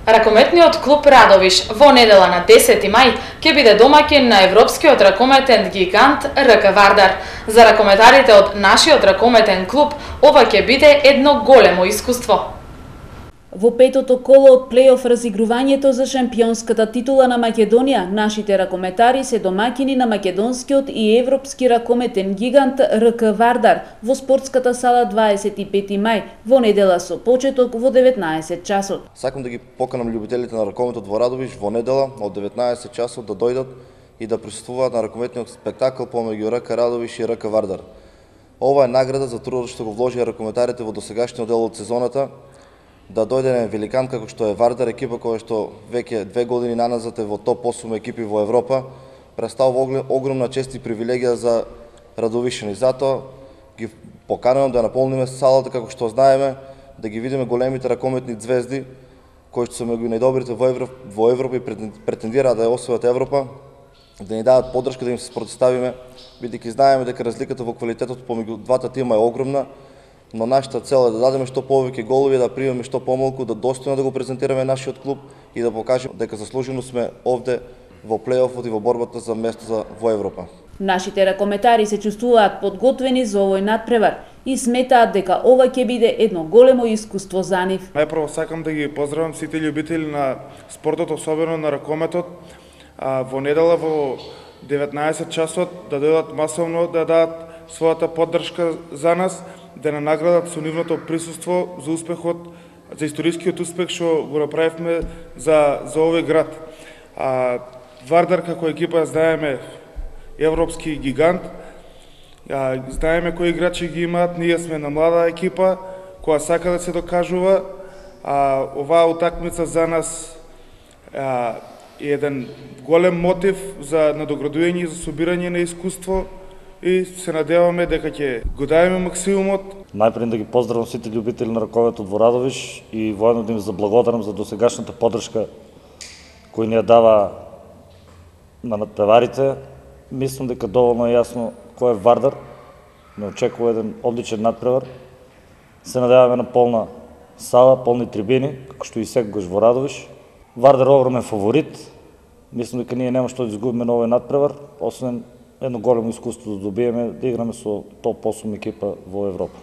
Ракометниот клуб Радовиш во недела на 10 мај ќе биде домаќин на европскиот ракометен гигант РК Вардар. За ракометарите од нашиот ракометен клуб ова ќе биде едно големо искуство. Во петото коло од плей-оф разигрувањето за шампионската титула на Македонија, нашите ракометари се домаќини на македонскиот и европски ракометен гигант РК Вардар во спортската сала 25 мај во недела со почеток во 19 часот. Сакам да ги поканам љубителите на ракометот во Радовиш во недела од 19 часот да дојдат и да присуствуваат на ракометниот спектакл помеѓу РК Радовиш и РК Вардар. Ова е награда за трудот што го вложија ракометарите во досегашниот дел од сезоната, да дојде на великан како што е Вардар, екипа која што веќе 2 години наназад е во топ 8 екипи во Европа, представува огромна чест и привилегија за радовишани. Затоа ги поканувам да наполниме салата како што знаеме, да ги видиме големите ракометни звезди кои што се меѓу најдобрите во Европа и претендираат да ја освојат Европа, да ни дадат поддршка, да им се спротивставиме, бидејќи знаеме дека разликата во квалитетот помеѓу двата тима е огромна. Но нашата цел е да дадеме што повеќе голови, да примеме што помалку, да достојно да го презентираме нашиот клуб и да покажеме дека заслужено сме овде во плей-офот и во борбата за место во Европа. Нашите ракометари се чувствуваат подготвени за овој надпревар и сметаат дека ова ќе биде едно големо искуство за нив. Најпрво сакам да ги поздравам сите љубители на спортот, особено на ракометот, во недела во 19 часот да дојдат масовно да дадат својата поддршка за нас, да не наградат со нивното присуство за успехот, за историскиот успех што го направивме за овој град. Вардар како екипа знаеме европски гигант, знаеме кои играчи ги имаат, ние сме на млада екипа која сака да се докажува. Оваа утакмица за нас е еден голем мотив за надоградување и за собирање на искуство, и се надеваме дека ќе го дадеме максимумот. Најпред да ги поздравам сите љубители на ракометот во Радовиш и воедно да им заблагодарам за досегашната поддршка кој ни ја дава на надпреварите. Мислам дека доволно е јасно кој е Вардар. Не очекува еден одличен надпревар. Се надеваме на полна сала, полни трибини, како што и секогаш во Радовиш. Вардар е огромен фаворит. Мислам дека ние нема што да изгубиме на овој надпревар, освен едно големо искуство да добиеме да играме со топ 8 екипа во Европа.